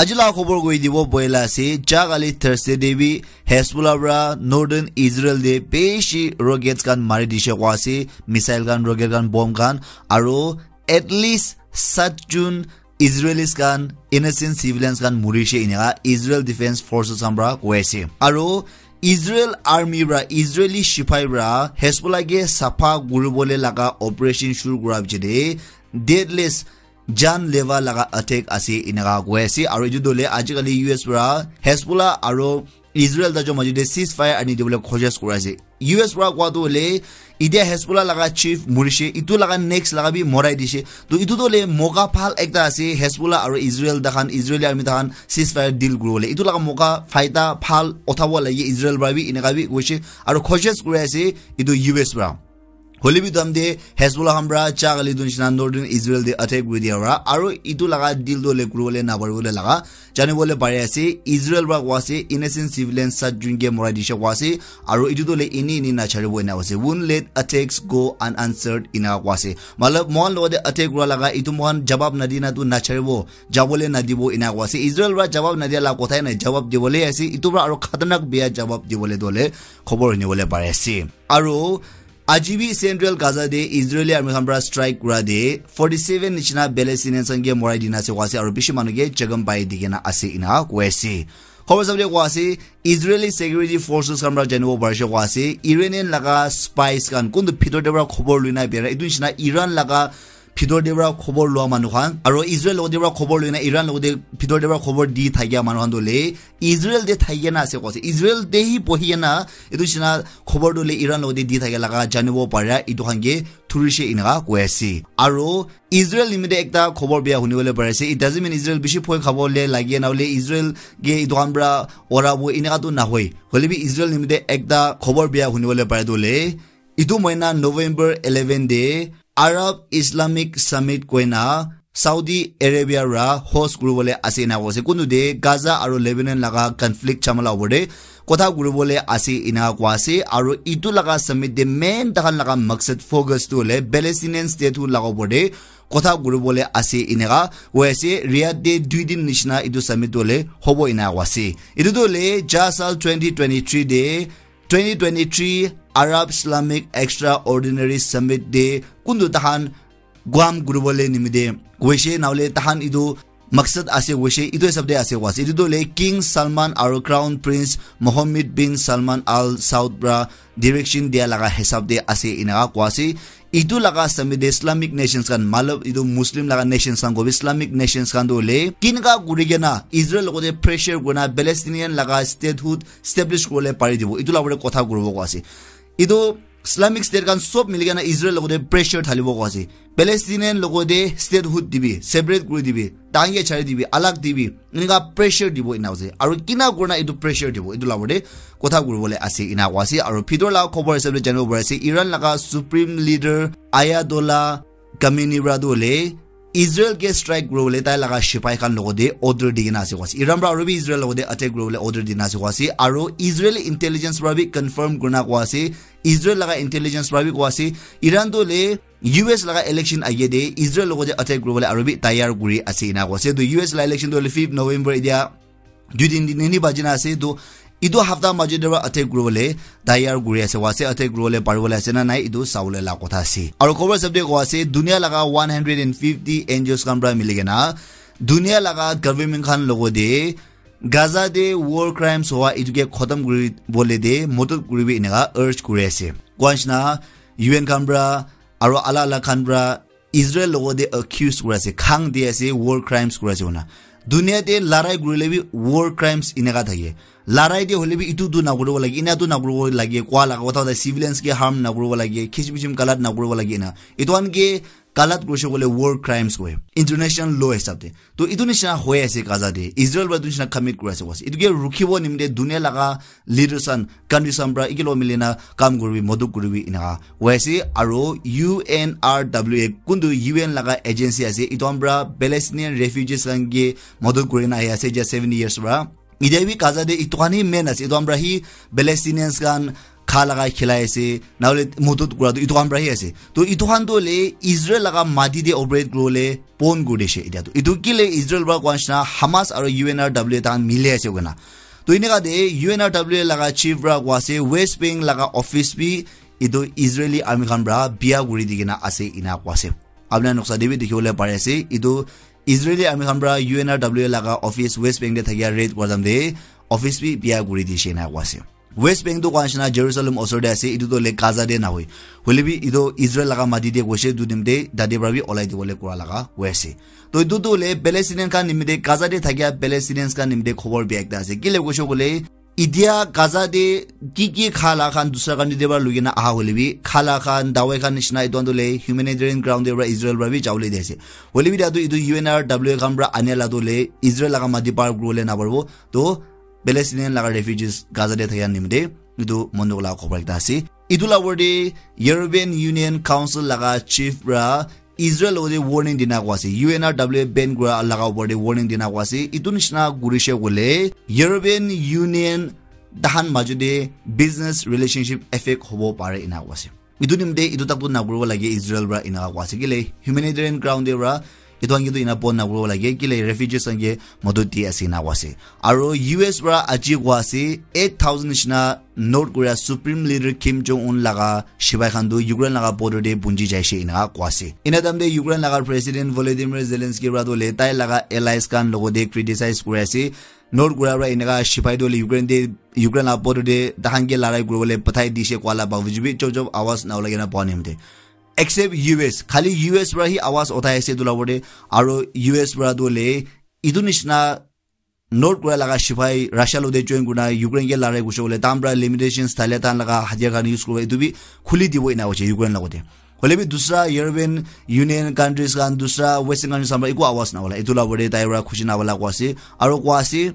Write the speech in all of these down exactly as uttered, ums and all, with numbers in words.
Aji la khobor koi dibo boila ase, ja kali Thursday de bi Hezbollah pra Northern Israel de beshi rockets khan mari dishe kwa ase, missile khan, rocket khan, bomb khan, aro at least sat jun Israelis khan, innocent civilians khan murishe inaka Israel Defense Forces khan pra koi ase. Aro Israel army pra, Israeli shipai pra Hezbollah ke sapha kuribole laga operation shuru kura piche de deadless jan leva laga attack ase inaka koi ase. Aro etu dole ajikali U S pra Hezbollah aro Israel tajo majo de ceasefire ani dibole khojis kuri ase. U S pra koa tu hole, itia Hezbollah laga chief murishe, itu laga next laga bi morai dishe. To itu tu hole moka phal ekta ase, Hezbollah aro Israel takhan, Israeli army takhan ceasefire deal kuribole. Itu laga moka faida phal uthabo lage Israel pra bi, inaka bi koishe. Aro khojis kuri ase itu U S pra. Hole bi dam de Hezbollah khan pra cha gali dun shina Northern Israel de attack kuri dia pra. Aro itu laga deal tu hole kuribole naparibole laga. Jani bole pare ase, Israel pra koa ase, innocent civilians sat jun ke morai dishe koa ase, aro etu tu le ini ini na charibo ena koa ase. Won't let attacks go unanswered ena koa ase. Matlab, mohan logote attack kura laga, etu mohan jawab na dina tu na charibo, jabole na dibo ena koa ase. Israel pra jawab na dia la kotha nai, jawab dibole ase, etu pra aro khatarnak bia jawab dibole dole, khobor huni bole pare ase. Aro, Aji bi Central Gaza de Israeli army khan pra strike kura de forty seven nishina Palestinians khan ke morai dina ase koa ase aro bishi manu ke jakham pai dikena ase ena koa ase. Khobor sabole koa ase, Israeli security forces khan pra janibo parishe koa ase, Iranian laga spies khan kuntu bhitor de pra khobor luina bera, etu nishina Iran laga bhitor de pra khobor lua manu khan, aro Israel logote pra khobor luina Iran logote bhitor de pra khobor di thakia manu khan tu le Israel de thakikena ase koa ase. Israel de hi bohikena etu nishina khobor tu le Iran logote di thakia laga janibo para etu khan ke thurishe inaka koa ase. Aro Israel nimite ekta khobor bia huni bole pare ase. It doesn't mean Israel bishi bhoi khabo le lage na hole Israel ke etu khan pra orabo inaka tu nahoi. Hole bi Israel nimite ekta khobor bia huni bole pare tu le etu moina November eleven de Arab Islamic Summit koina Saudi Arabia ra host kuribole ase ena koa ase. Kuntu de Gaza aro Lebanon laga conflict chamala opor de kotha kuribole ase ena koa ase. Aro etu laga summit de main takhan laga maksad focus tu hole Palestinian statehood laga opor de kotha kuribole ase enaka koa ase. Riyadh de dui din nishina etu summit tu hole hobo ena koa ase. Etu tu hole ja sal twenty twenty-three de twenty twenty-three Arab Islamic Extraordinary Summit de kuntu takhan Guam kuribole nimite koishe, nahole takhan etu maksad ase koishe, etu hisab de ase koa ase. Etu tu hole King Salman aro Crown Prince Mohammed bin Salman Al Saud pra direction dia laga hisab de ase enaka koa ase. Etu laga summit de Islamic nations khan, matlab etu Muslim laga nations khan kobi Islamic nations khan tu hole kinaka kurikena Israel logote pressure kurina Palestinian laga statehood establish kuribole pari dibo, etu la opor de kotha kuribo koa ase. Etu Islamic State khan sob milikena Israel logote pressure thalibo koa ase. Palestinian logote statehood dibi, separate kuri dibi, takhan ke chari dibi, alag dibi, enaka pressure dibo ena ase. Aro kinaka kurina etu pressure dibo, etu la opor de kotha kuribole ase ena koa ase. Aro bhitor laga khobor hisab de janibo pare ase, Iran laga Supreme Leader Ayatollah Khamenei pra tu hole Israel ke strike kuribole tai laga shipai khan logote order dikena ase koa ase. Iran pra aro bi Israel logote attack kuribole order dina ase koa ase. Aro Israeli intelligence pra bi confirm kurina koa ase. Israel laga intelligence pra bi koa ase. Iran tu hole U S laga election age de Israel logote attack kuribole aro bi tayar kuri ase ena koa ase. To U S la election tu hole fifth November etia dui din din ni baji na ase. To etu hafta majo de pra attack kuribole tayar kuri ase koa ase, attack kuribole paribole ase na nai, etu sabole la kotha ase. Aro khobor hisab de koa ase, dunia laga one hundred and fifty N G Os khan pra milikena dunia laga government khan logote Gaza de war crimes hoa etu ke khotom kuribole de modot kuribi enaka urge kuri ase. Koa nishina U N khan pra aro alag alag khan pra Israel logote accuse kuri ase, khang di ase, war crimes kuri ase koina. Dunia te larai kurile bi war crimes enaka thake. Larai de hole bi etu tu nakuribo lage, ena tu nakuribo lage, koa laga kotha hole civilians ke harm nakuribo lage, khichim khichim galat nakuribo lage ena. Etu khan ke galat kurishe koile war crimes koi, international law hisab de. To etu nishina hoi ase Gaza de. Israel pra etu nishina commit kuri ase koa ase. Etu ke rukhibo nimite dunia laga leaders khan, countries khan pra eke logot milina kam kuribi, modot kuribi enaka hoi ase. Aro U N R W A kuntu U N laga agency ase, etu khan pra Palestinian refugees khan ke modot kurina ahi ase etia seventy years pra. Etia bi Gaza de etu khan hi main ase, etu khan pra hi Palestinians khan kha laga khilai ase, nahole modot kura tu itu khan para hi ase. To itu khan tu le Israel laga mati te operate kuribole bon kuri dishe etia tu. Itu kile Israel para koa nishina Hamas aro U N R W tahan mili ase koina. To eneka te U N R W laga chief para koa ase West Bank laga office bi itu Israeli army khan para bia kuri di kena ase ena koa ase. Apni khan noksa te bi dikhi bole pari ase, itu Israeli army khan para U N R W laga office West Bank te thakia raid kura time te office bi bia kuri dishe ena koa ase. West Bank tu koa nishina Jerusalem osor te ase, itu tu le Gaza te nahoi. Hoile bi itu Israel laga mati te koise, itu nimite tate para bi olai dibole kura laga hoi ase. To itu tu le Palestinian khan nimite, Gaza te thakia Palestinians khan nimite khobor bia ekta ase. Kile koise koile, itia Gaza te ki ki kha la khan dusra country te para lugina aha hoile bi, kha la khan, dawai khan nishina itu khan tu le humanitarian ground te para Israel para bi jabole di ase. Hoile bi tate itu U N R W khan para ania la tu le Israel laga mati par kuribole naparibo. To Palestinian laga refugees Gaza te thakia nimite itu mon dukh la khobor ekta ase. Itu la opor te European Union Council laga chief para Israel logote warning dina koa ase. U N R W ban kura laga opor te warning dina koa ase. Itu nishina kurishe koile European Union tahan majo te business relationship affect hobo pare ena koa ase. Itu nimite itu tak tu nakuribo lage Israel para ena koa ase. Kile humanitarian ground te para itu khan ke tu ena bon nakuribo lage. Kile refugees khan ke modot di ase ena koa ase. Aro U S para aji koa ase eight thousand nishina North Korea Supreme Leader Kim Jong Un laga sipai khan tu Ukraine laga border te punji jaise ena koa ase. Ena time te Ukraine laga President Volodymyr Zelensky para tu le tai laga allies khan logote criticize kuri ase. North Korea para eneka sipai tu le Ukraine te, Ukraine laga border te tahan ke larai kuribole pathai dishe koa la bavuj bi chop chop awaz na ulai kena poa nimite. Except U S, khali U S para hi awaz uthai ase itu la opor te, aro U S para tu le itu nishina North Korea laga sipai Russia logote join kurina Ukraine ke larai kurise koile, tahan para limitations thale, tahan laga hatiyar khan use kuribo, itu bi khuli dibo ena koise Ukraine logote. Hoile bi dusra European Union countries khan, dusra Western countries khan para eku awaz na ola. Itu la opor te tai para khushi na ola koa ase. Aro koa ase,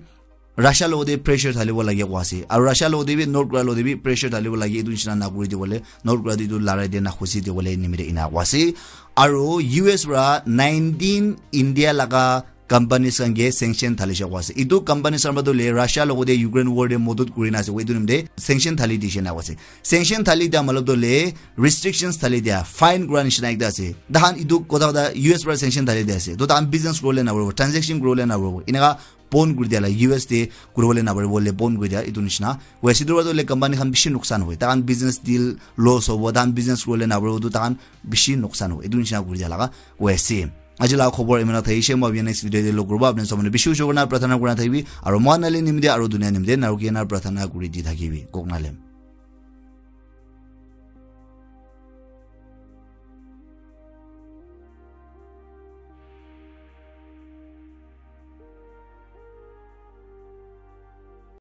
Russia logote pressure thalibo lage koa ase. Aro Russia logote bi North Korea logote bi pressure thalibo lage, itu nishina nakuri dibole, North Korea tu itu larai te nakhusi dibole nimite ena koa ase. Aro U S para nineteen India laga companies khan ke sanction thalishe koa ase. Itu companies khan para tu le Russia logote Ukraine war te modot kurina ase, itu nimite sanction thali dishe na koa ase. Sanction thali dia matlab tu le restrictions thali dia, fine kura nishina ekta ase. Tahan itu kotha kotha U S para sanction thali dia ase. To tahan business kuribole naparibo, transaction kuribole naparibo. Eneka bon kuri dia la, U S te kuribole naparibo le bon kuri dia, itu nishina. West itu para tu le company khan bishi nuksan hoi. Tahan business deal loss hobo, tahan business kuribole naparibo, to tahan bishi nuksan hoi. Itu nishina kuri dia laga hoi ase. Aji laga khobor imana thaishe, moi next video te log kuribo. Apni sob manu bishi ushor kurina prarthana kurina thakibi. Aro moi nale nimite aro dunia nimite naruki na prarthana kuri di thakibi. Kok nalem.